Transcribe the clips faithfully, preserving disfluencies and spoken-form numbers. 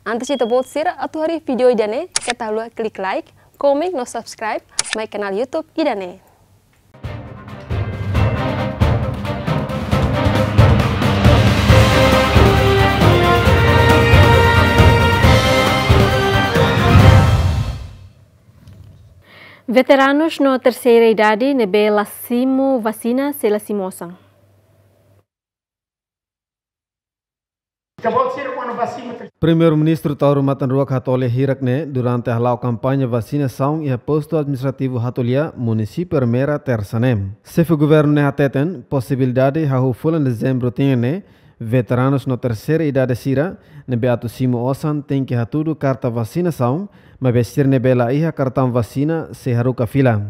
Antes ita-boot sira atu haree vídeo ida-ne'e, keta haluha klik like, komen no subscribe mai kanál YouTube ida-ne'e. Veteranus no terseira idade ne'ebé la simu vasina sei la simu osan. Primeiru-Ministru Taur Matan Ruak hato'o lia hirak ne'e durante hala'o kampaña vasinasaun iha postu administrativu Hatolia, Munisípiu Ermera, Tersa ne'e. Xefe Governu ne'e hateten posibilidade hahú fulan Dezembru tinan ne'e, veteranus no terseira idade sira ne'ebé atu simu osan tenke hatudu karta vasinasaun, maibé sira ne'ebé la iha kartaun vasina sei haruka fila.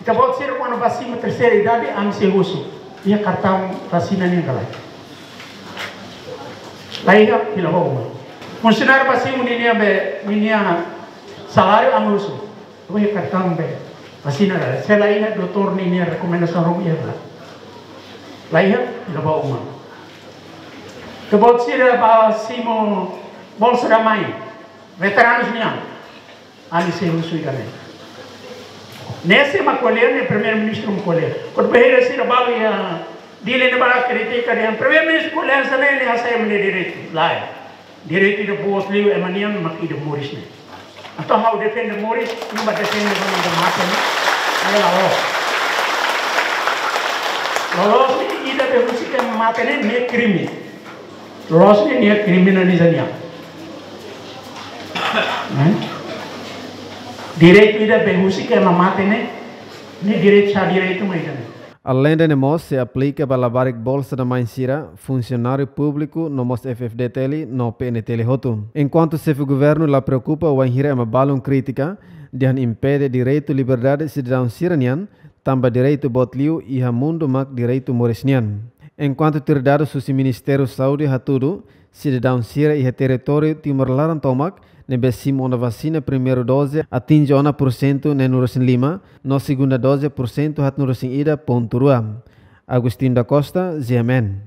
Ita-boot sira kuandu ba simu terseira idade, ami sei husu: iha kartaun vasina nian ka lae? La iha, fila ba uma. Funsionáriu ba simu ninia be, ninia saláriu, ami husu: iha kartaun be vasina ka lae? Se la iha, doutór ninia rekomendasaun ruma iha ka lae? La iha, fila ba uma. Ita-boot sira ba simu Bolsa da Mãe, veteranus nian, ami sei husu ida-ne'e. Ne'e sé mak ko'alia, ne'e Primeiru-Ministru mak ko'alia. Kuandu bainhira sira balu iha Dili ne'ebá kritika dehan Primeiru-Ministru ko'alia hanesan ne'e, nia hasai ema nia direitu. Lae. Direitu ida boot liu ema nian mak ida moris ne'e. Entaun ha'u defende moris, nia bá defende ema ida mate ne'e. Ne'e la loos. La loos ne'e, ida be husik ema mate ne'e, ne'e krime. Loos ne'e, nia kriminaliza nia. Ne'e? Direitu ida be husik ema mate ne'e, ne'e direitu, sá direitu mak ida-ne'e? Aleinde ne'e mós sei aplika ba labarik Bolsa da Mãe sira, funsionáriu públiku no mós F F D T L no P N T L hotu. Enkuantu Xefe Governu la preokupa wainhira ema balun kritika, dehan impede direitu liberdade sidadaun sira-nian, tanba direitu boot liu iha mundu mak direitu moris nian. Enkuantu tuir dadus husi Ministériu Saúde hatudu, sidadaun sira iha territóriu Timor laran tomak ne'ebé simu ona vasina primeiru doze atinje ona pursentu neenulu-resin-lima, no segunda doze pursentu haatnulu-resin-ida pontu rua. Agostinho da Costa, G M N.